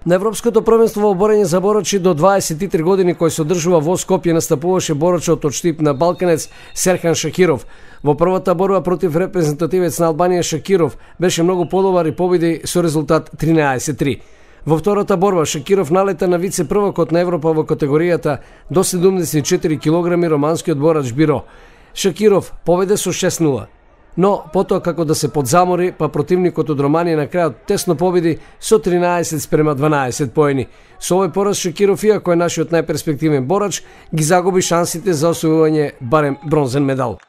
На Европското првенство во борење за борачи до 23 години кој се одржува во Скопје настапуваше борачот од Штип на Балканец Серхан Шакиров. Во првата борба против репрезентативец на Албанија Шакиров беше многу подобар и победи со резултат 13-3. Во втората борба Шакиров налета на вице-првакот на Европа во категоријата до 74 килограми романскиот борач Биро. Шакиров победе со 6-0. Но потоа како да се подзамори, па противникот од Романија на крајот тесно победи со 13-12 поени. Со овој пораз Шакиров, иако е нашиот најперспективен борач, ги загуби шансите за освојување барем бронзен медал.